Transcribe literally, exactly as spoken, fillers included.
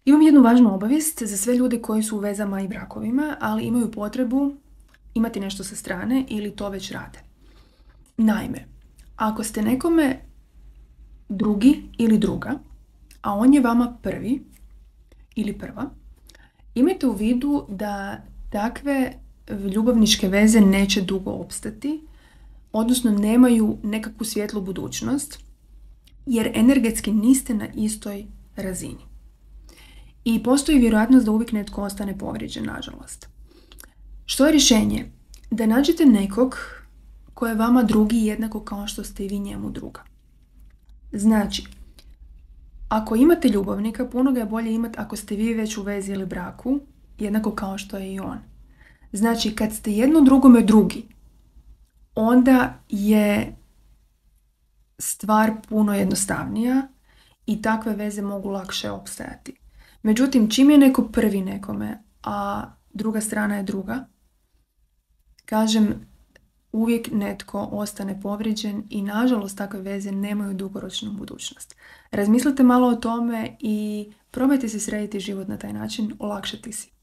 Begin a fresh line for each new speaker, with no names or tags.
Imam jednu važnu obavijest za sve ljude koji su u vezama i brakovima, ali imaju potrebu imati nešto sa strane ili to već rade. Naime, ako ste nekome drugi ili druga, a on je vama prvi ili prva, imajte u vidu da takve ljubavničke veze neće dugo opstati, odnosno nemaju nekakvu svjetlu budućnost, jer energetski niste na istoj razini. I postoji vjerojatnost da uvijek netko ostane povrijeđen, nažalost. Što je rješenje? Da nađete nekog ko je vama drugi jednako kao što ste i vi njemu druga. Znači, ako imate ljubavnika, puno ga je bolje imati ako ste vi već u vezi ili braku, jednako kao što je i on. Znači, kad ste jedno drugome drugi, onda je stvar puno jednostavnija i takve veze mogu lakše opstajati. Međutim, čim je neko prvi nekome, a druga strana je druga, kažem, uvijek netko ostane povrijeđen i nažalost takve veze nemaju dugoročnu budućnost. Razmislite malo o tome i probajte si srediti život na taj način, olakšati si.